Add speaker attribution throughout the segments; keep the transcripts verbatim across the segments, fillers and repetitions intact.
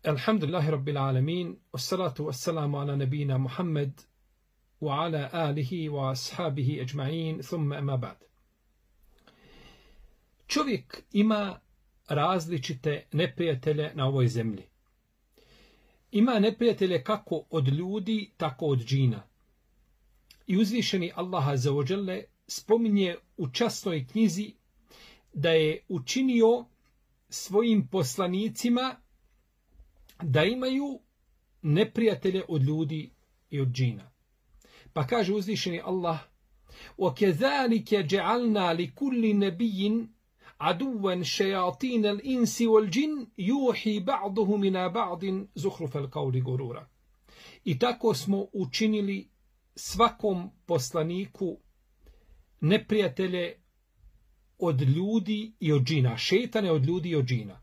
Speaker 1: Alhamdulillahi Rabbil Alamin, wassalatu wassalamu ala nabina Muhammed wa ala alihi wa ashabihi ajma'in, thumma ama ba'd. Čovjek ima različite neprijatelje na ovoj zemlji. Ima neprijatelje kako od ljudi, tako od džina. I uzvišeni Allah azza wa jalla spominje u časnoj knjizi da je učinio svojim poslanicima da imaju neprijatelje od ljudi i od džina. Pa kaže uzvišeni Allah: وَكَذَلِكَ جَعَلْنَا لِكُلِّ نَبِيٍّ عَدُوًا شَيَاطِينَ الْإِنسِ وَالْجِنِّ يُوحِي بَعْضُهُمْ إِلَى بَعْضٍ زُخْرُفَ الْقَوْلِ غُرُورًا. I tako smo učinili svakom poslaniku neprijatelje od ljudi i od džina, šejtane od ljudi i od džina.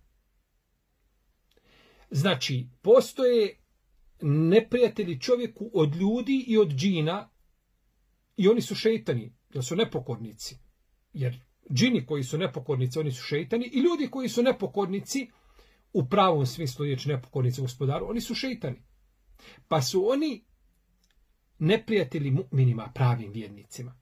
Speaker 1: Znači, postoje neprijatelji čovjeku od ljudi i od džina i oni su šejtani, jer su nepokornici. Jer džini koji su nepokornici, oni su šejtani, i ljudi koji su nepokornici, u pravom smislu riječi nepokornici gospodaru, oni su šejtani. Pa su oni neprijatelji mu'minima, pravim vjernicima.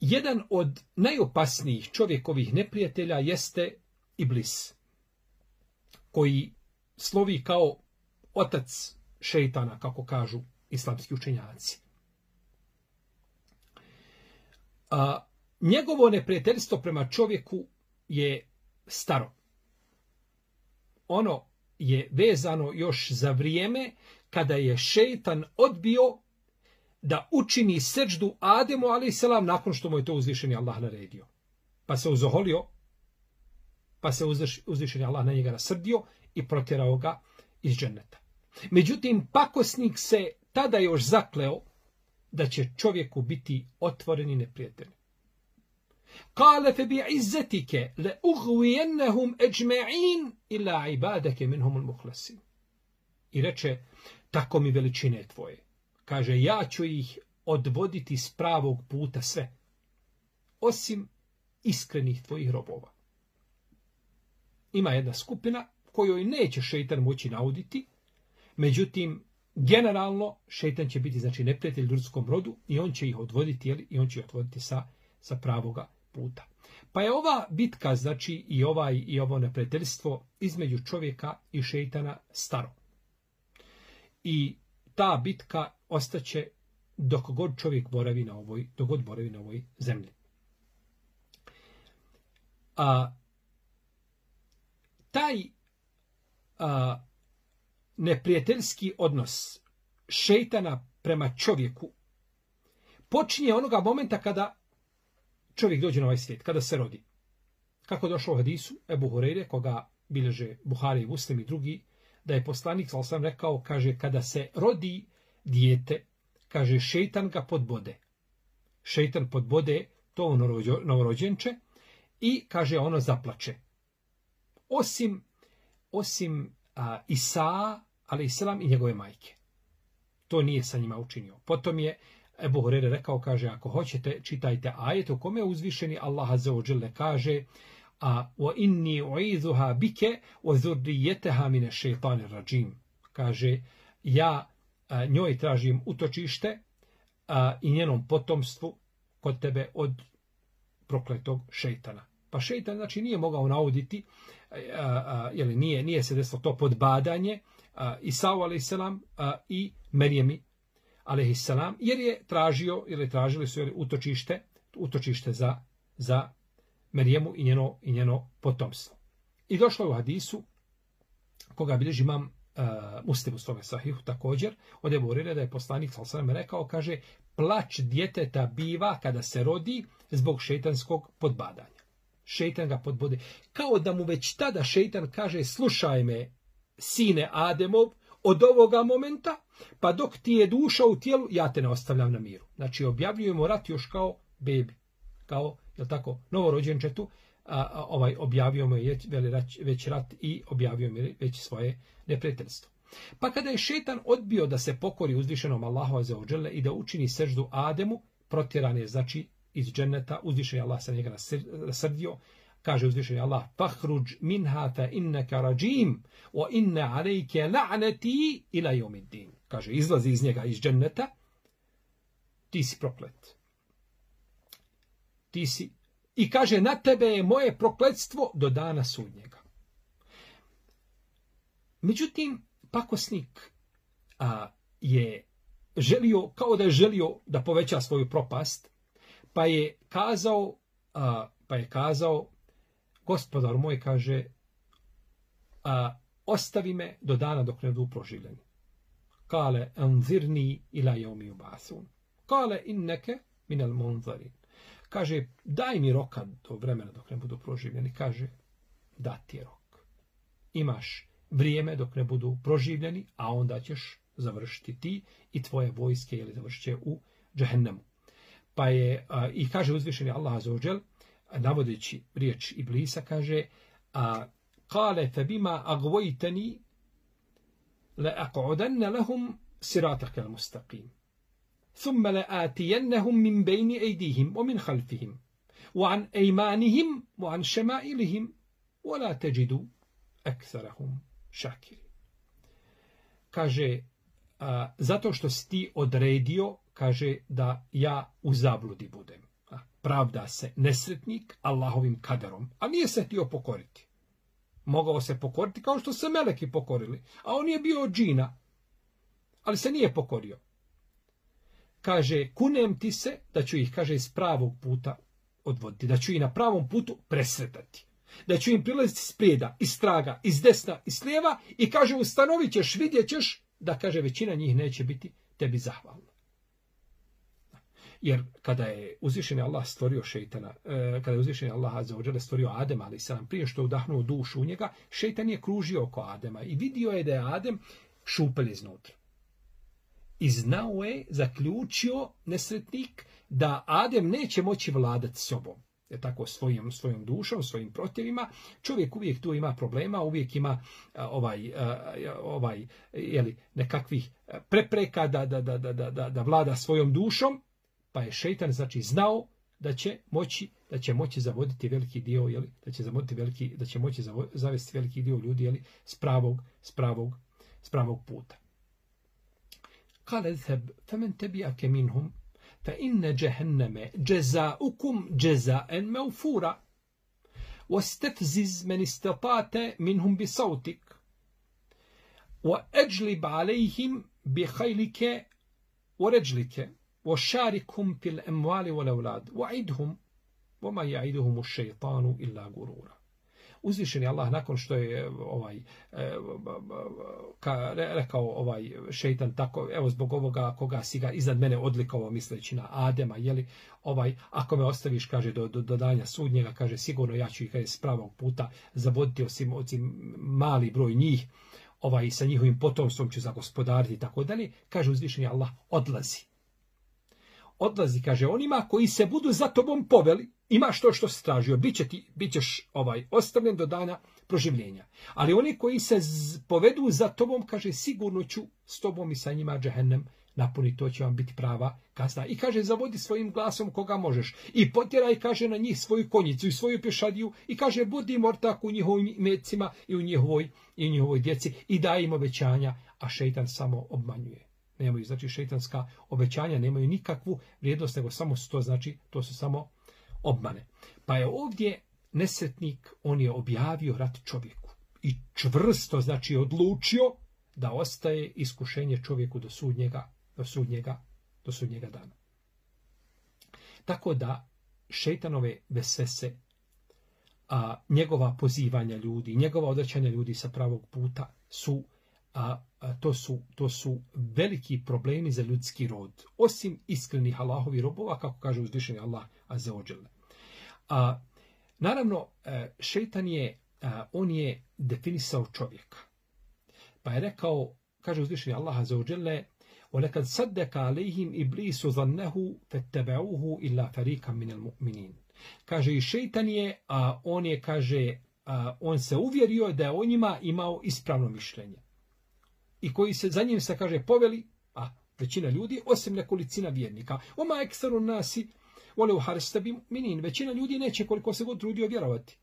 Speaker 1: Jedan od najopasnijih čovjekovih neprijatelja jeste Iblis, koji slovi kao otac šejtana, kako kažu islamski učenjaci. A, njegovo neprijateljstvo prema čovjeku je staro. Ono je vezano još za vrijeme kada je šejtan odbio da učini seđdu Ademu alejselam nakon što mu je to uzvišeni Allah naredio. Pa se uzoholio, pa se uzvišeni Allah na njega nasrdio i protjerao ga iz dženneta. Međutim, pakosnik se tada još zakleo da će čovjeku biti otvoreni neprijatelj. Kale fe bi izzetike le ugvijennehum eđme'in ila ibadake minhumul muhlasin. I reče, tako mi veličine tvoje. Kaže, ja ću ih odvoditi s pravog puta sve, osim iskrenih tvojih robova. Ima jedna skupina kojoj neće šejtan moći nauditi, međutim, generalno šejtan će biti, znači, neprijatelj ljudskom rodu i on će ih odvoditi, jeli, i on će ih odvoditi sa, sa pravoga puta. Pa je ova bitka, znači, i, ovaj, i ovo neprijateljstvo između čovjeka i šejtana staro. I ta bitka ostaće dok god čovjek boravi na ovoj, dok god boravi na ovoj zemlji. A taj a, neprijateljski odnos šejtana prema čovjeku počinje onoga momenta kada čovjek dođe na ovaj svijet, kada se rodi. Kako došlo u hadisu Ebu Hureyre, koga bilježe Buhari i Muslim i drugi, da je poslanik sallallahu alejhi ve sellem rekao, kaže, kada se rodi dijete, kaže, šejtan ga podbode. Šejtan podbode to novorođenče i, kaže, ono zaplače. Osim, osim a, Isa, alejselam, i njegove majke. To nije sa njima učinio. Potom je Ebu Hureyre rekao, kaže, ako hoćete, čitajte ajet u kome uzvišeni Allah azza wa jalla kaže: a wa inni u'izuha bike wa zurrijataha min ash-shaytanir rajim. Kaže, ja a, njoj tražim utočište a, i njenom potomstvu kod tebe od prokletog šejtana. Pa šejtan, znači, nije mogao nauditi, a, a, jeli, nije, nije se desilo to podbadanje a, Isau alejselam i Merijemi alejselam, jer je tražio, ili tražili su, jeli, utočište, utočište za, za Merijemu i njeno, i njeno potomstvo. I došlo je u hadisu, koga bilježi imam uh, Muslim u svome sahihu također, od Ebu Hureyre da je poslanik sallallahu alejhi ve sellem rekao, kaže, plać djeteta biva kada se rodi zbog šejtanskog podbadanja. Šejtan ga podbode. Kao da mu već tada šejtan kaže, slušaj me, sine Ademov, od ovoga momenta, pa dok ti je duša u tijelu, ja te ne ostavljam na miru. Znači, objavljujemo rat još kao bebi, kao, jel tako, novorođenčetu, a, a, ovaj, objavio mu je već rat i objavio mu je već svoje neprijateljstvo. Pa kada je šejtan odbio da se pokori uzvišenom Allahu azza wa jalla i da učini seždu Ademu, protjeran je, znači, iz dženneta, uzvišen je Allah sa njega nasrdio, kaže uzvišeni Allah, fahruđ minha fa innaka rajim, wa inna alejke la'nati ila yawmiddin. Kaže, izlazi iz njega, iz dženneta, ti si proklet. Ti si. I kaže, na tebe je moje prokletstvo do dana sudnjega. Međutim, pakosnik a, je želio, kao da je želio da poveća svoju propast, pa je kazao, a, pa je kazao, gospodar moj, kaže, a, ostavi me do dana dok ne budu proživljeni. Kale, anzirni ila yawmi yub'athun. Kale, inneke minal munzarin. Kaže, daj mi roka do vremena dok ne budu proživljeni. Kaže, da ti je rok. Imaš vrijeme dok ne budu proživljeni, a onda ćeš završiti ti i tvoje vojske, ili završit će u džehennemu. Pa je, a, i kaže uzvišeni Allah azza wa džel, navodeći riječ Iblisa, kaže, a kale fe bima agvojteni le aq'udanna lahum sirataka al-mustaqim. ثم لآتينهم من بين أيديهم ومن خلفهم وعن أيمانهم وعن شمائلهم ولا تجد أكثرهم شاكرين. Kaže, a, zato što si ti odredio, kaže, da ja u zabludi budem. A, pravda se nesretnik Allahovim kaderom, a nije se htio pokoriti. Mogao se pokoriti kao što se meleki pokorili, a on je bio od džina, ali se nije pokorio. Kaže, kunem ti se da ću ih, kaže, iz pravog puta odvoditi, da ću ih na pravom putu presretati, da ću im prilaziti s prijeda, iz straga, iz desna, iz lijeva i kaže, ustanovit ćeš, vidjet ćeš da, kaže, većina njih neće biti tebi zahvalna. Jer kada je uzvišeni Allah stvorio šejtana, kada je uzvišeni Allah azza wa dželle stvorio Adema, ali sam prije što je udahnuo dušu u njega, šejtan je kružio oko Adema i vidio je da je Adem šupelj iznutra. I znao je, zaključio nesretnik, da Adem neće moći vladati sobom. Je tako, svojom, svojom dušom, svojim protivima. Čovjek uvijek tu ima problema, uvijek ima a, ovaj, a, ovaj jeli, nekakvih prepreka da, da, da, da, da, da vlada svojom dušom. Pa je šejtan, znači, znao da će moći, da će moći zavoditi veliki dio, jeli, da će zavoditi veliki, da će moći zavesti veliki dio ljudi, jeli, s pravog, s pravog, s pravog puta. قال اذهب فمن تبعك منهم فإن جهنم جزاؤكم جزاء موفورا واستفزز من استطعت منهم بصوتك وأجلب عليهم بخيلك ورجلك وشاركهم في الأموال والأولاد وعدهم وما يعدهم الشيطان إلا غرورا. Uzvišeni Allah, nakon što je ovaj ka, rekao ovaj šejtan tako, evo zbog ovoga koga si ga iznad mene odlikovao, misleći na Adema, jeli, ovaj, ako me ostaviš, kaže, do, do, do danja sudnjega, kaže, sigurno ja ću ih, kaže, s pravog puta zavoditi, osim, osim mali broj njih, ovaj, sa njihovim potomstvom ću zagospodariti i tako dalje. Kaže uzvišeni Allah, odlazi. Odlazi, kaže, onima koji se budu za tobom poveli, imaš to što si tražio, bit, će ti, bit ćeš ovaj, ostavljen do dana proživljenja. Ali oni koji se z, povedu za tobom, kaže, sigurno ću s tobom i sa njima džehennem napuniti, to će vam biti prava kazna. I kaže, zavodi svojim glasom koga možeš. I potjeraj, kaže, na njih svoju konjicu i svoju pješadiju i kaže, budi mortak u njihovim mecima i u njihovoj, i u njihovoj djeci i daj im obećanja, a šejtan samo obmanjuje. Nemaju, znači, šejtanska obećanja nemaju nikakvu vrijednost, nego samo to, znači, to su samo obmane. Pa je ovdje nesretnik, on je objavio rat čovjeku i čvrsto, znači, odlučio da ostaje iskušenje čovjeku do sudnjega, do sudnjega, do sudnjega dana. Tako da šejtanove vesvese, a njegova pozivanja ljudi, njegova odvraćanja ljudi sa pravog puta su A, a to su to su veliki problemi za ljudski rod, osim iskrenih Allahovi robova, kako kaže uzvišeni Allah azza wa dželle. A naravno, šejtan je, on je definisao čovjeka. Pa je rekao, kaže uzvišeni Allah azza wa dželle, وَلَكَدْ صَدَّكَ عَلَيْهِمْ إِبْلِيسُ ظَنَّهُ فَاتَّبَعُوهُ إِلَّا فَرِيقًا مِنَ الْمُؤْمِنِينَ. Kaže, i šejtan je, a on je, kaže, a, on se uvjerio da je o njima imao ispravno mišljenje. I koji se za njim se, kaže, poveli, a većina ljudi, osim nekolicina vjernika. Oma ekstaru nasi, vole u harstabi minin. Većina ljudi neće, koliko se god trudio, vjerovati.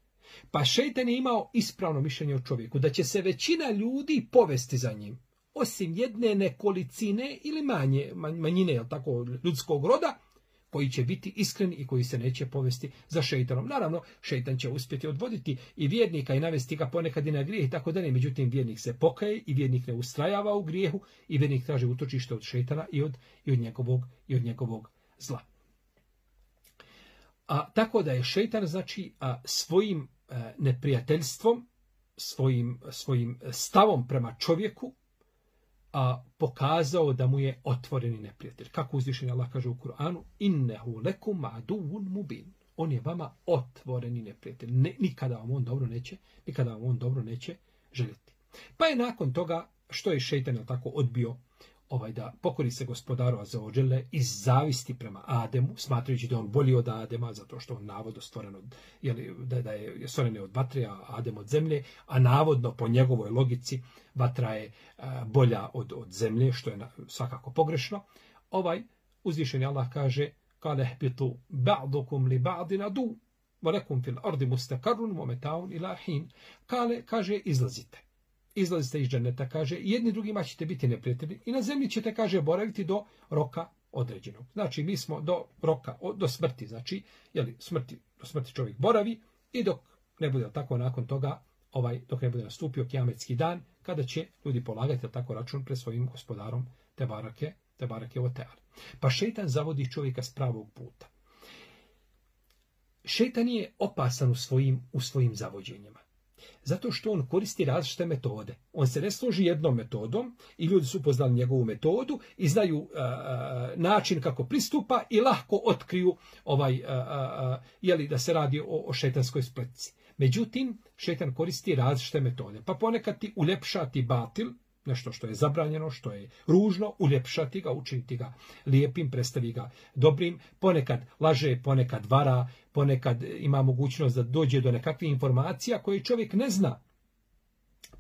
Speaker 1: Pa šejtan je imao ispravno mišljenje o čovjeku, da će se većina ljudi povesti za njim, osim jedne nekolicine ili manje, manjine, jel tako, ljudskog roda, koji će biti iskreni i koji se neće povesti za šejtanom. Naravno, šejtan će uspjeti odvoditi i vjernika i navesti ga ponekad i na grijeh i tako dalje. Međutim, vjernik se pokaje i vjernik ne ustrajava u grijehu i vjernik traži utočište od šejtana i od, i od, njegovog, i od njegovog zla. A, tako da je šejtan, znači, a, svojim a, neprijateljstvom, svojim, svojim stavom prema čovjeku, a pokazao da mu je otvoreni neprijatelj. Kako uzvišeni Allah kaže u Kur'anu, innehu lekum aduvun mubin. On je vama otvoreni neprijatelj. Ne, nikada vam on dobro neće, nikada vam on dobro neće željeti. Pa je nakon toga, što je šejtan tako odbio ovaj da pokori se gospodaru Azzaodžele iz zavisti prema Ademu, smatrajući da on bolji od Adema, zato što on navodno stvoren od, jeli, da, da je stvoren od vatre, a Adem od zemlje, a navodno po njegovoj logici vatra je a, bolja od, od zemlje, što je na, svakako pogrešno. Ovaj uzvišeni Allah kaže, kale hbitu ba'dukum li ba'din adu, wa lakum fil ardi mustaqarrun wa mata'un ila hin. Kale kaže, izlazite. Izlazite iz dženeta, kaže, jedni drugima ćete biti neprijatelji i na zemlji ćete, kaže, boraviti do roka određenog. Znači, mi smo do roka, do smrti, znači, jeli, smrti, do smrti čovjek boravi i dok ne bude tako nakon toga, ovaj, dok ne bude nastupio kijametski dan, kada će ljudi polagati tako račun pred svojim gospodarom Tebarake, Tebarake Oteala. Pa šejtan zavodi čovjeka s pravog puta. Šejtan je opasan u svojim, u svojim zavođenjima. Zato što on koristi različite metode. On se ne služi jednom metodom i ljudi su upoznali njegovu metodu i znaju uh, način kako pristupa i lahko otkriju ovaj, uh, uh, jeli, da se radi o, o šejtanskoj spletci. Međutim, šejtan koristi različite metode. Pa ponekad ti uljepšati batil, nešto što je zabranjeno, što je ružno, uljepšati ga, učiniti ga lijepim, predstavi ga dobrim, ponekad laže, ponekad vara, ponekad ima mogućnost da dođe do nekakvih informacija koje čovjek ne zna,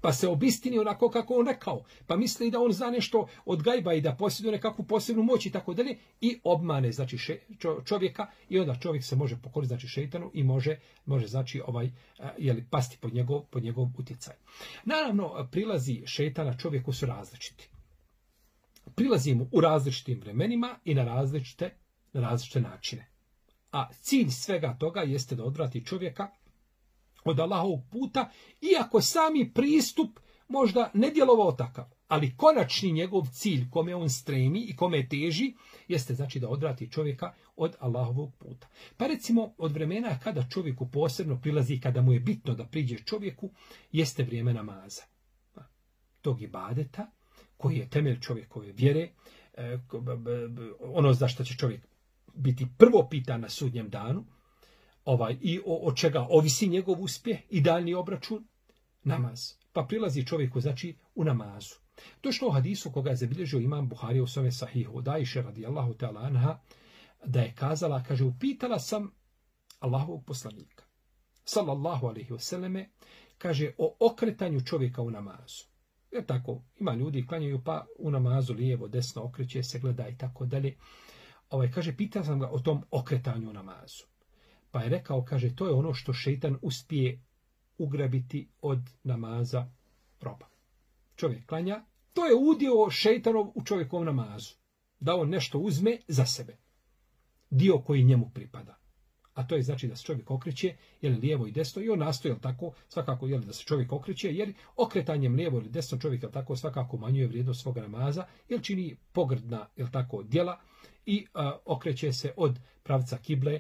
Speaker 1: pa se obistini onako kako on rekao, pa misli da on zna nešto od gajba i da posjeduje nekakvu posebnu moć i tako dalje, i obmane, znači, še, čovjeka, i onda čovjek se može pokoriti, znači, šejtanu i može, može znači, ovaj, jeli, pasti pod njegov, pod njegov utjecaj. Naravno, prilazi šejtana čovjeku su različiti. Prilazi mu u različitim vremenima i na različite, na različite načine. A cilj svega toga jeste da odvrati čovjeka od Allahovog puta, iako sami pristup možda ne djelovao takav, ali konačni njegov cilj kome on stremi i kome teži, jeste znači da odvrati čovjeka od Allahovog puta. Pa recimo od vremena kada čovjeku posebno prilazi, kada mu je bitno da priđe čovjeku, jeste vrijeme namaza. Tog ibadeta, koji je temelj čovjekove vjere, ono za što će čovjek biti prvo pitan na sudnjem danu, ovaj, i o, od čega ovisi njegov uspjeh i daljni obračun, namaz. Pa prilazi čovjeku, znači, u namazu. Došlo u hadisu koga je zabilježio imam Buharija u svome sahihu od Ajše radijallahu ta'ala anha, da je kazala, kaže, upitala sam Allahovog poslanika, sallallahu alaihi wasallame, kaže, o okretanju čovjeka u namazu. Jer tako, ima ljudi klanjaju pa u namazu lijevo, desno, okreće se, gleda i tako dalje. Ovaj, kaže, pitao sam ga o tom okretanju u namazu. Pa je rekao, kaže, to je ono što šejtan uspije ugrabiti od namaza roba. Čovjek klanja, to je udio šejtanov u čovjekovom namazu. Da on nešto uzme za sebe. Dio koji njemu pripada. A to je znači da se čovjek okreće, jel lijevo i desno, i on nastoji, jel tako, svakako, jel da se čovjek okreće, jer okretanjem lijevo ili desno čovjek, jel tako, svakako umanjuje vrijednost svoga namaza, jer čini pogrdna, jel tako, djela i a, okreće se od pravca kible,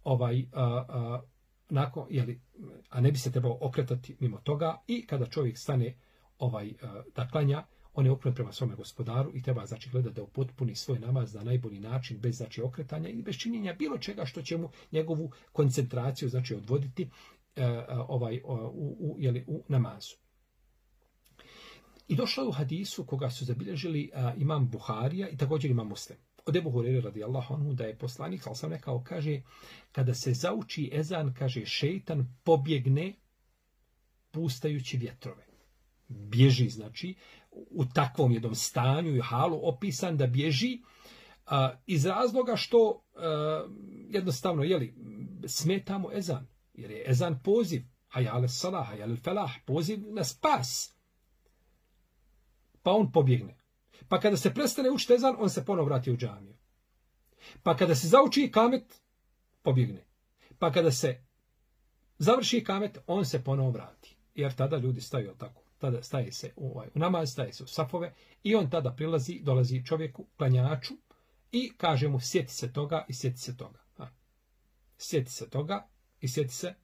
Speaker 1: ovaj, a, a, nakon, jeli, a ne bi se trebao okretati mimo toga, i kada čovjek stane ovaj, a, da klanja, on je okrenut prema svome gospodaru i treba znači gledati da upotpuni svoj namaz na najbolji način, bez znači okretanja i bez činjenja bilo čega što će mu njegovu koncentraciju znači odvoditi a, a, ovaj, a, u, u, jeli, u namazu. I došlo je u hadisu koga su zabilježili a, imam Buharija i također imam Muslim. Od Ebu Hurere radijallahu anhu da je poslanik, ali sam rekao, kaže, kada se zauči ezan, kaže, šejtan pobjegne pustajući vjetrove. Bježi, znači, u takvom jednom stanju i halu opisan da bježi a, iz razloga što a, jednostavno, jeli, smetamo ezan. Jer je ezan poziv. hajale salah, hajale felah, poziv na spas. Pa on pobjegne. Pa kada se prestane učiti ezan, on se ponovo vrati u džamiju. Pa kada se zauči kamet, pobjegne. Pa kada se završi kamet, on se ponovo vrati. Jer tada ljudi staju tako. Tada staje se u, ovaj, u namaz, staje se u safove i on tada prilazi, dolazi čovjeku, klanjaču i kaže mu sjeti se toga i sjeti se toga. A. Sjeti se toga i sjeti se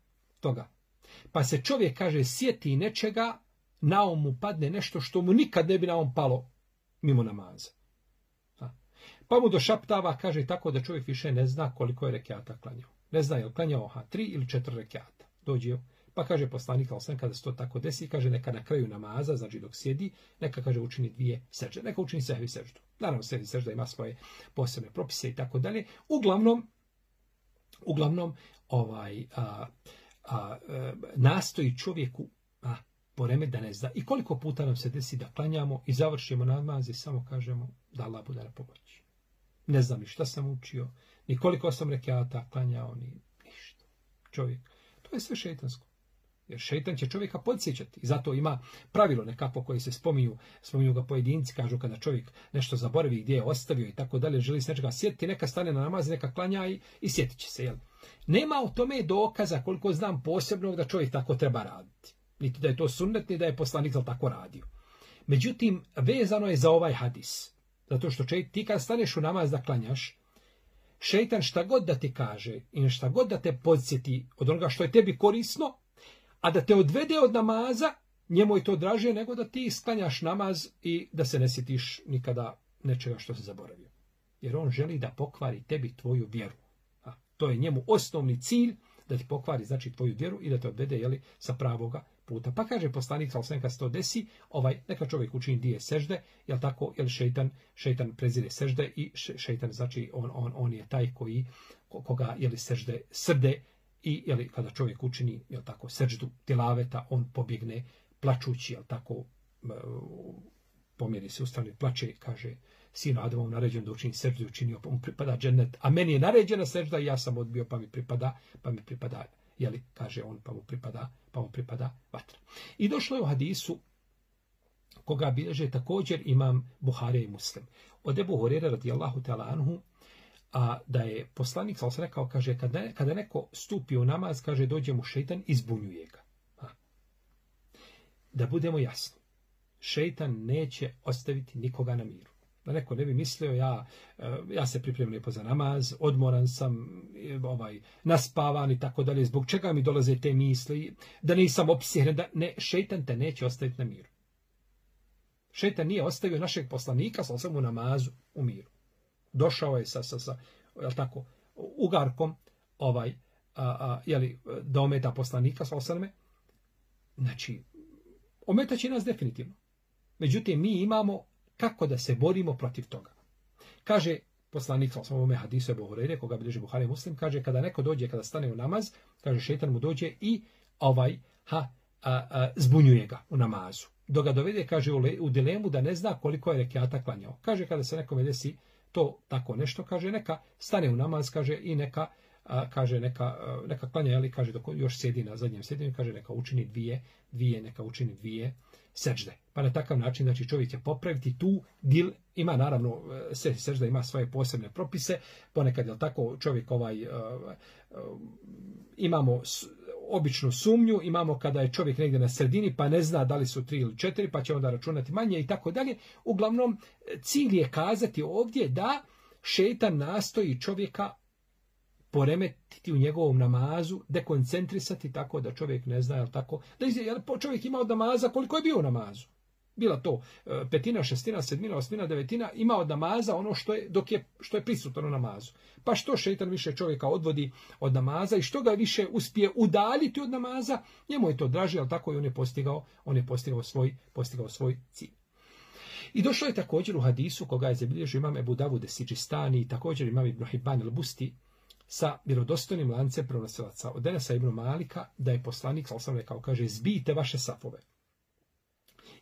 Speaker 1: toga. Pa se čovjek kaže sjeti nečega, na um mu padne nešto što mu nikad ne bi na um palo mimo namaza. A. Pa mu došaptava, kaže tako da čovjek više ne zna koliko je rekiata klanjao. Ne zna je li klanjao ha, tri ili četiri rekiata. Dođe pa kaže poslanik sallallahu kada se to tako desi, kaže neka na kraju namaza, znači dok sjedi, neka kaže učini dvije sežde, neka učini sehvi seždu. Naravno sehvi sežda ima svoje posebne propise i tako dalje. Uglavnom, uglavnom ovaj a, a, a, nastoji čovjeku a, poremet da ne zna. I koliko puta nam se desi da klanjamo i završimo namaz i samo kažemo da Allah bude na pomoći. Ne znam ni šta sam učio, ni koliko sam rekiata klanjao, ni ništa. Čovjek, to je sve šejtansko. Jer šejtan će čovjeka podsjećati. I zato ima pravilo nekako koje se spominju, spominju ga pojedinci, kažu kada čovjek nešto zaboravi gdje je ostavio i tako dalje, želi se nečega sjetiti, neka stane na namaz, neka klanja i, i sjetit će se. Jel? Nema o tome dokaza, koliko znam, posebnog da čovjek tako treba raditi. Niti da je to sunnet, ni da je poslanik tako radio. Međutim, vezano je za ovaj hadis. Zato što čovjek, ti kad staneš u namaz da klanjaš, šejtan šta god da ti kaže i šta god da te podsjeti od onoga što je tebi korisno, a da te odvede od namaza, njemu je to draže nego da ti sklanjaš namaz i da se ne sjetiš nikada nečega što se zaboravio. Jer on želi da pokvari tebi tvoju vjeru. A, to je njemu osnovni cilj, da ti pokvari znači tvoju vjeru i da te odvede jeli, sa pravoga puta. Pa kaže poslanik sallallahu kad se to desi, ovaj, neka čovjek učini dvije sežde, jel tako, jel šejtan, šejtan prezire sežde i šejtan znači on, on, on je taj koji, koga jeli sežde srde. I jeli, kada čovjek učini jel tako, seždu tilaveta, on pobjegne plačući, jel tako, pomjeri se ustane, plače, kaže, sinu Adamov naređen da učini seždu, učinio, pa mu pripada džennet, a meni je naređena sežda i ja sam odbio, pa mi pripada, pa mi pripada, jeli, kaže on, pa mu pripada, pa mu pripada vatra. I došlo je u hadisu, koga bilježe također imam Buharija i Muslim. Od Ebu Hurere radijallahu ta'ala anhu, a da je poslanik sallallahu alejhi ve sellem rekao, kaže, kada, kada neko stupi u namaz, kaže, dođe mu šejtan i zbunjuje ga. A. Da budemo jasni, šejtan neće ostaviti nikoga na miru. Da neko ne bi mislio, ja, ja se pripremim lijepo za namaz, odmoran sam, ovaj, naspavan i tako dalje, zbog čega mi dolaze te misli, da nisam opsjehen, da ne, šejtan te neće ostaviti na miru. Šejtan nije ostavio našeg poslanika sallallahu alejhi ve sellem u namazu u miru. Došao je sa, sa, sa jel tako, ugarkom ovaj, a, a, jeli, da ometa poslanika, sallallahu alejhi ve sellem. Znači, ometaće nas definitivno. Međutim, mi imamo kako da se borimo protiv toga. Kaže poslanik, sallallahu alejhi ve sellem, hadisu Ebu Hurajre, koga bilježi Buhari Muslim, kaže, kada neko dođe, kada stane u namaz, kaže, šejtan mu dođe i ovaj, ha, a, a, zbunjuje ga u namazu. Dok ga dovede, kaže, u, le, u dilemu da ne zna koliko je rekiata klanjao. Kaže, kada se nekome desi to tako nešto, kaže, neka stane u namaz, kaže, i neka, a, kaže, neka, a, neka klanja, ali, kaže, dok još sjedi na zadnjem sjedinju, kaže, neka učini dvije, dvije, neka učini dvije sežde. Pa na takav način, znači, čovjek će popraviti tu dil, ima, naravno, se, sežda ima svoje posebne propise, ponekad, je tako, čovjek ovaj, a, a, imamo s, običnu sumnju, imamo kada je čovjek negdje na sredini, pa ne zna da li su tri ili četiri, pa će onda računati manje i tako dalje. Uglavnom, cilj je kazati ovdje da šejtan nastoji čovjeka poremetiti u njegovom namazu, dekoncentrisati tako da čovjek ne zna, jel tako, da je čovjek imao od namaza koliko je bio u namazu. Bila to petina, šestina, sedmina, osmina, devetina, ima od namaza ono što je, dok je, što je prisutno u namazu. Pa što šejtan više čovjeka odvodi od namaza i što ga više uspije udaljiti od namaza, njemu je to draže, ali tako i on je postigao, on je postigao svoj, postigao svoj cilj. I došlo je također u hadisu koga je zabilježio imam Ebu Davud Sidžistani i također imam Ibn Hibban al-Busti sa vjerodostojnim lancem prenosilaca od Enesa ibn Malika da je poslanik sallallahu alejhi ve sellem rekao, kaže, zbijte vaše safove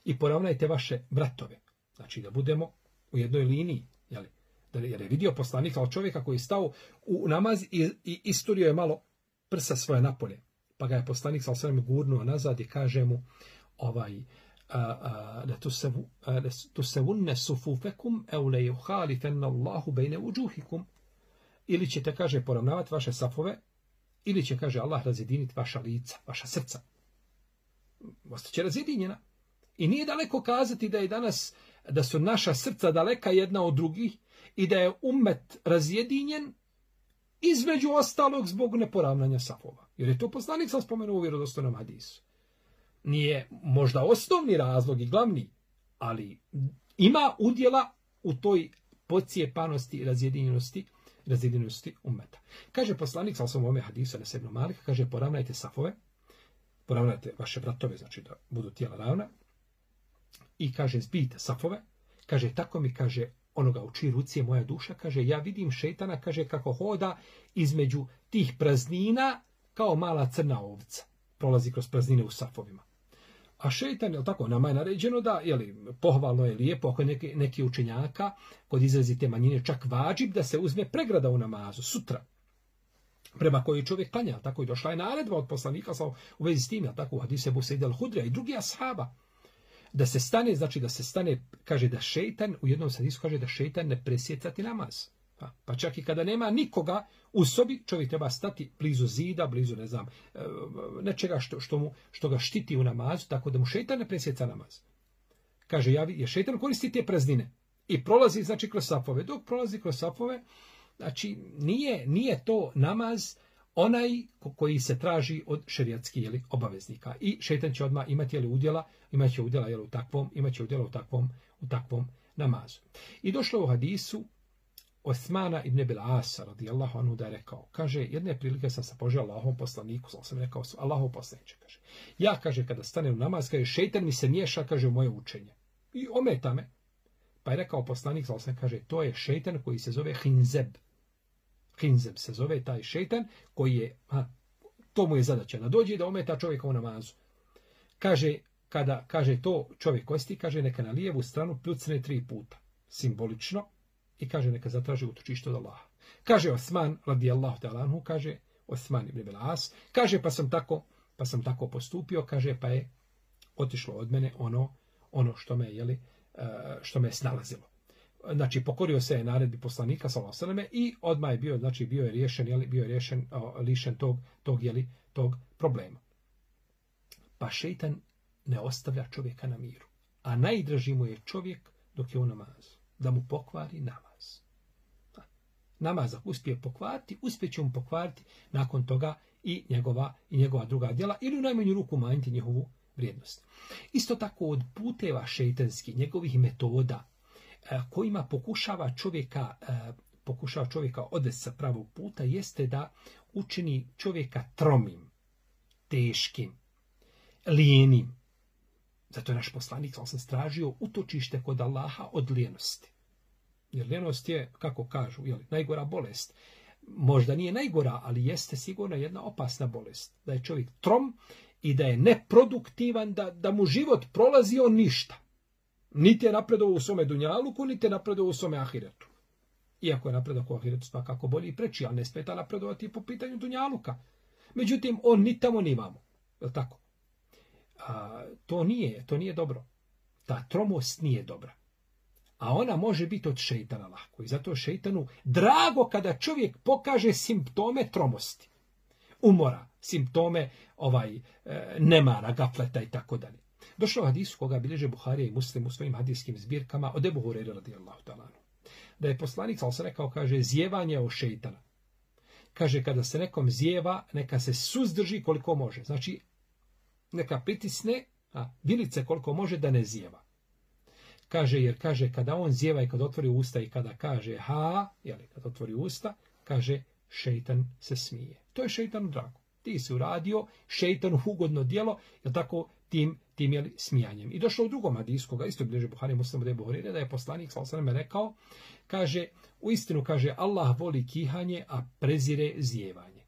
Speaker 1: i poravnajte vaše vratove. Znači da budemo u jednoj liniji, jeli? Da jer je vidio poslanik kao čovjeka koji je stao u namaz i, i isturio je malo prsa svoje napolje. Pa ga je poslanik sa osrem gurnuo nazad i kaže mu, ovaj, da tu se vunne sufufekum eule juhalifenna Allahu bejne uđuhikum. Ili ćete, kaže, poravnavati vaše safove, ili će, kaže, Allah razjediniti vaša lica, vaša srca. Ostaće razjedinjena. I nije daleko kazati da je danas, da su naša srca daleka jedna od drugih i da je ummet razjedinjen između ostalog zbog neporavnanja safova. Jer je to poslanik sam spomenuo u vjerodostojnom hadisu. Nije možda osnovni razlog i glavni, ali ima udjela u toj podcijepanosti i razjedinjenosti, razjedinjenosti ummeta. Kaže poslanik sa osnovom ome hadisu na Ibn Malika, kaže poravnajte safove, poravnajte vaše bratove, znači da budu tijela ravna, i kaže zbijte safove, kaže tako mi kaže onoga u čiji ruci je moja duša, kaže ja vidim šejtana, kaže kako hoda između tih praznina kao mala crna ovca, prolazi kroz praznine u safovima. A šejtan, je tako, nama je naređeno da, jeli, pohvalno je lijepo, ako neki, neki učenjaka, kod izrazite manjine, čak vađib da se uzme pregrada u namazu, sutra, prema kojoj čovjek klanja, tako i došla je naredba od poslanika u vezi s tim, tako u hadisu Ebu Sejda al-Hudrija i drugi ashaba, da se stane, znači da se stane, kaže da šejtan, u jednom hadisu kaže da šejtan ne presjecati namaz. Pa, pa čak i kada nema nikoga u sobi, čovjek treba stati blizu zida, blizu, ne znam, nečega što, što, mu, što ga štiti u namazu, tako da mu šejtan ne presjeca namaz. Kaže, ja, je šejtan koristi te praznine i prolazi, znači, kroz safove. Dok prolazi kroz safove, znači, nije, nije to namaz onaj koji se traži od šerijatskih, jeli, obaveznika. I šejtan će odmah imati, jeli, udjela, imat će udjela, jeli, u takvom, imat će udjela u takvom, u takvom namazu. I došlo u hadisu Osmana ibn Abil Asa, radijallahu anhu, da je rekao, kaže, jedne prilike sam se poželio Allahom poslaniku, sam rekao, Allahov poslaniče, kaže, ja, kaže, kada stanem u namaz, kaže, šejtan mi se miješa, kaže, u moje učenje. I ometa me. Pa je rekao poslanik, sam kaže, to je šejtan koji se zove Hinzeb. Hinzeb se zove taj šejtan koji je, ha, to mu je zadaća, da dođe da ometa čovjeka u namazu. Kaže, kada, kaže, to čovjek kosti, kaže, neka na lijevu stranu pljucne tri puta, simbolično, i kaže neka zatraži utočište od Allaha. Kaže Osman radijallahu ta'ala anhu, kaže Osman ibn Abil As, kaže pa sam tako, pa sam tako postupio, kaže pa je otišlo od mene ono, ono što me je, što me je snalazilo. Znači pokorio se je naredbi poslanika sallallahu alejhi ve selleme i odmah je bio, znači bio je riješen, je bio je riješen, lišen tog tog je tog problema. Pa šejtan ne ostavlja čovjeka na miru, a najdraži mu je čovjek dok je u namazu, da mu pokvari namaz. Namaz ako uspije pokvariti, uspjet će mu pokvariti nakon toga i njegova, i njegova druga djela, ili u najmanju ruku umanjiti njihovu vrijednost. Isto tako od puteva šejtanskih, njegovih metoda, kojima pokušava čovjeka, pokušava čovjeka odvesti sa pravog puta, jeste da učini čovjeka tromim, teškim, lijenim. Zato je naš poslanik, ali sam stražio utočište kod Allaha od lijenosti. Jer lijenost je, kako kažu, jeli, najgora bolest. Možda nije najgora, ali jeste sigurno jedna opasna bolest. Da je čovjek trom i da je neproduktivan, da, da mu život prolazi on ništa. Niti je napredovao u svome dunjaluku, niti je napredovao u svome ahiretu. Iako je napredovao u ahiretu svakako bolji i preči, ali ne smeta napredovati po pitanju dunjaluka. Međutim, on ni tamo ni vamo. Je li tako? A, to nije, to nije dobro. Ta tromost nije dobra. A ona može biti od šejtana lako. I zato šejtanu drago kada čovjek pokaže simptome tromosti. Umora, simptome ovaj nemara, gafleta i tako dalje. Došlo u hadisu koga bilježe Buharija i Muslim u svojim hadijskim zbirkama od Ebu Hurajre radijallahu ta'ala anhu. Da je poslanik sallallahu alejhi ve sellem rekao, kaže, zjevanje od šejtana. Kaže, kada se nekom zjeva, neka se suzdrži koliko može. Znači, neka pritisne a, vilice koliko može da ne zjeva. Kaže, jer kaže, kada on zjeva i kada otvori usta i kada kaže ha, jeli, kada otvori usta, kaže, šejtan se smije. To je šejtanu drago. Ti si uradio šejtanu ugodno djelo, je tako, tim, tim jeli, smijanjem. I došlo u drugom hadisu, koga isto bilježi Buhari Muslim od Ebu Hurajre, da je poslanik sallallahu alejhi ve sellem rekao, kaže, u istinu, kaže, Allah voli kihanje, a prezire zjevanje.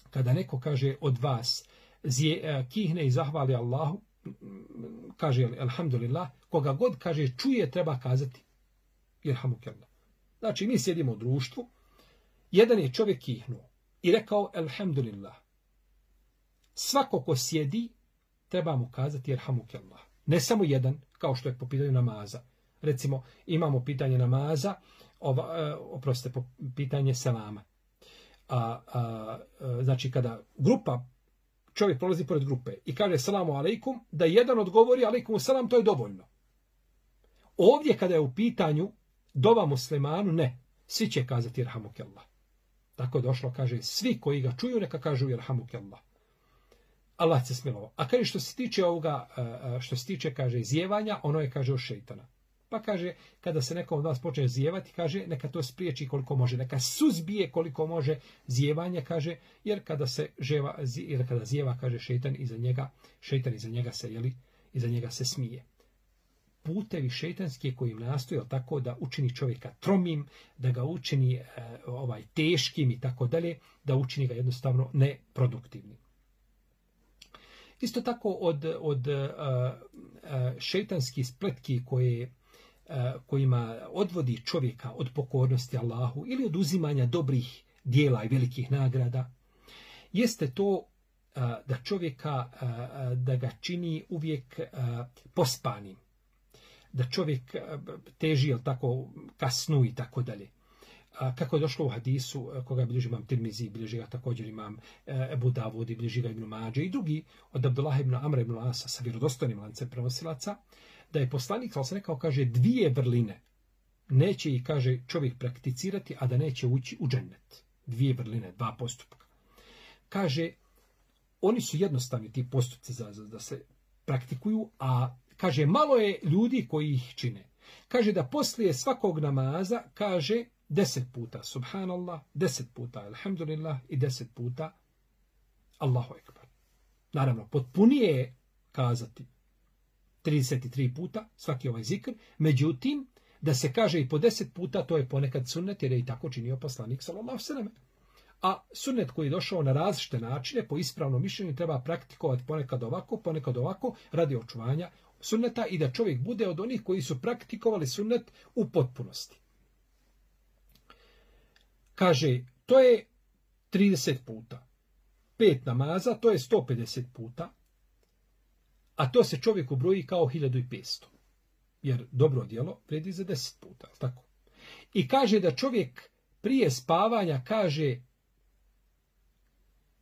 Speaker 1: Kada neko kaže od vas zje, kihne i zahvali Allahu, kaže, alhamdulillah, koga god kaže čuje, treba kazati irhamukallah. Znači, mi sjedimo u društvu, jedan je čovjek kihnuo i rekao alhamdulillah. svako ko sjedi, treba mu kazati jerhamukallah. Ne samo jedan, kao što je po pitanju namaza. Recimo, imamo pitanje namaza, ova, oprostite, po pitanje selama. A, a, a, znači, kada grupa, čovjek prolazi pored grupe i kaže selamu alejkum, da jedan odgovori alejkum selam, to je dovoljno. Ovdje, kada je u pitanju dova muslimanu, ne. Svi će kazati jerhamukallah. Tako je došlo, kaže, svi koji ga čuju, neka kažu jerhamukallah. Allah se smilovao. A kaže, što se tiče ovoga, što se tiče, kaže, zjevanja, ono je, kaže, od šejtana. Pa kaže, kada se nekom od vas počne zjevati, kaže, neka to spriječi koliko može, neka suzbije koliko može zjevanje, kaže, jer kada se ževa, jer kada zjeva, kaže, šejtan iza njega, šejtan iza njega se, jeli, iza njega se smije. Putevi šejtanski koji im nastoje tako da učini čovjeka tromim, da ga učini e, ovaj teškim i tako dalje, da učini ga jednostavno neproduktivnim. Isto tako od, od uh, uh, šejtanskih spletki koje, uh, kojima odvodi čovjeka od pokornosti Allahu ili od uzimanja dobrih dijela i velikih nagrada, jeste to uh, da čovjeka, uh, da ga čini uvijek uh, pospanim. Da čovjek uh, teži, jel tako, ka snu i tako dalje. Kako je došlo u hadisu, koga bilježi imam Tirmizi, bilježi ga također imam Ebu Davud i bilježi ga Ibn Mađe i drugi, od Abdullah ibn Amra ibn Asa sa vjerodostojnim lancem prenosilaca, da je poslanik, ali se nekao, kaže, dvije vrline neće i, kaže, čovjek prakticirati, a da neće ući u džennet. Dvije vrline, dva postupka. Kaže, oni su jednostavni ti postupci za, za, da se praktikuju, a, kaže, malo je ljudi koji ih čine. Kaže da poslije svakog namaza, kaže, deset puta subhanallah, deset puta alhamdulillah i deset puta Allahu ekber. Naravno, potpunije je kazati trideset tri puta svaki ovaj zikr, međutim, da se kaže i po deset puta, to je ponekad sunnet, jer je i tako činio poslanik sallallahu alejhi ve sellem. A sunnet koji je došao na različite načine, po ispravnom mišljenju, treba praktikovati ponekad ovako, ponekad ovako, radi očuvanja sunneta i da čovjek bude od onih koji su praktikovali sunnet u potpunosti. Kaže, to je trideset puta. Pet namaza, to je sto pedeset puta. A to se čovjeku broji kao hiljadu petsto. Jer dobro djelo vredi za deset puta. Tako. I kaže da čovjek prije spavanja kaže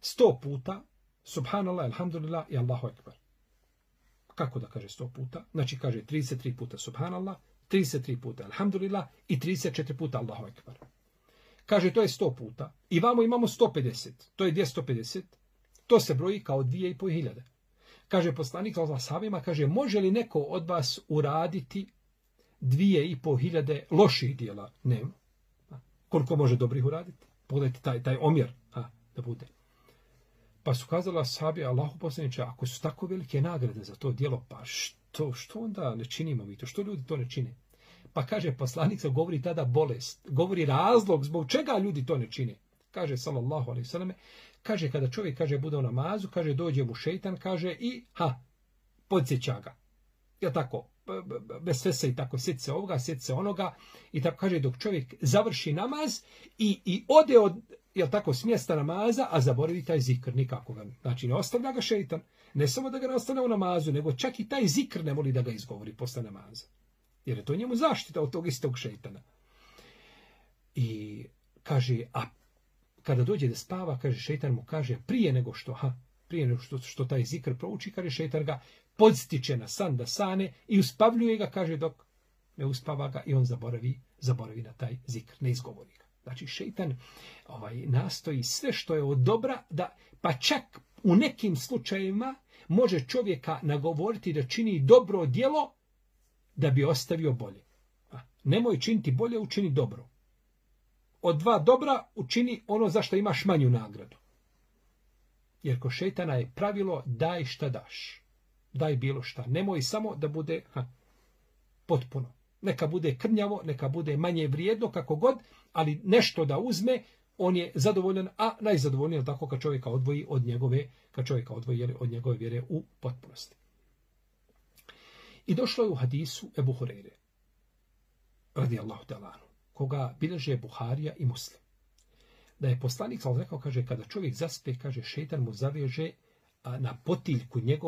Speaker 1: sto puta subhanallah, alhamdulillah i Allahu ekber. Kako da kaže sto puta? Znači kaže trideset tri puta subhanallah, trideset tri puta alhamdulillah i trideset četiri puta Allahu ekber. Kaže, to je sto puta. I vamo imamo sto pedeset. To je dvjesto pedeset. To se broji kao dvije i po hiljade. Kaže poslanik sa ashabima, kaže, može li neko od vas uraditi dvije i po hiljade loših dijela? Nema. Koliko može dobrih uraditi? Pogledajte taj, taj omjer. A, da bude. Pa su kazali ashabi, Allahu poslaniče, ako su tako velike nagrade za to dijelo, pa što, što onda ne činimo mi to? Što ljudi to ne čine? Pa kaže poslanik, govori tada bolest, govori razlog zbog čega ljudi to ne čine. Kaže sallallahu alejhi ve selleme, kaže kada čovjek kaže bude u namazu, kaže dođe mu šejtan, kaže i ha, podsjeća ga. Ja tako, bez sve se i tako, sjeti se ovoga, sjeti se onoga i tako kaže dok čovjek završi namaz i, i ode od, jel tako, s mjesta namaza, a zaboravi taj zikr nikako ga. Znači ne ostavlja ga šejtan, ne samo da ga ne ostavlja u namazu, nego čak i taj zikr ne voli da ga izgovori posle namaza. Jer je to njemu zaštita od tog istog šejtana. I kaže, a kada dođe da spava, kaže, šejtan mu kaže, prije nego što, ha, prije nego što, što taj zikr prouči, kaže, šejtan ga podstiče na san da sane i uspavljuje ga, kaže, dok ne uspava ga i on zaboravi, zaboravi na taj zikr, ne izgovori ga. Znači, šejtan ovaj, nastoji sve što je od dobra, da, pa čak u nekim slučajevima može čovjeka nagovoriti da čini dobro djelo, da bi ostavio bolje. A, nemoj činiti bolje, učini dobro. Od dva dobra učini ono za što imaš manju nagradu. Jer ko šejtana je pravilo daj šta daš. Daj bilo šta. Nemoj samo da bude ha, potpuno. Neka bude krnjavo, neka bude manje vrijedno, kako god, ali nešto da uzme, on je zadovoljan, a najzadovoljniji je tako kad čovjeka odvoji od njegove, kad čovjeka odvoji od njegove vjere u potpunosti. I došlo je u hadisu Ebu Hureyre, radijallahu ta'ala anhu, koga bilježe Buharija i Muslim. Da je poslanik sal rekao, kaže, kada čovjek zaspe, kaže, šejtan mu zaveže na potiljku njegovu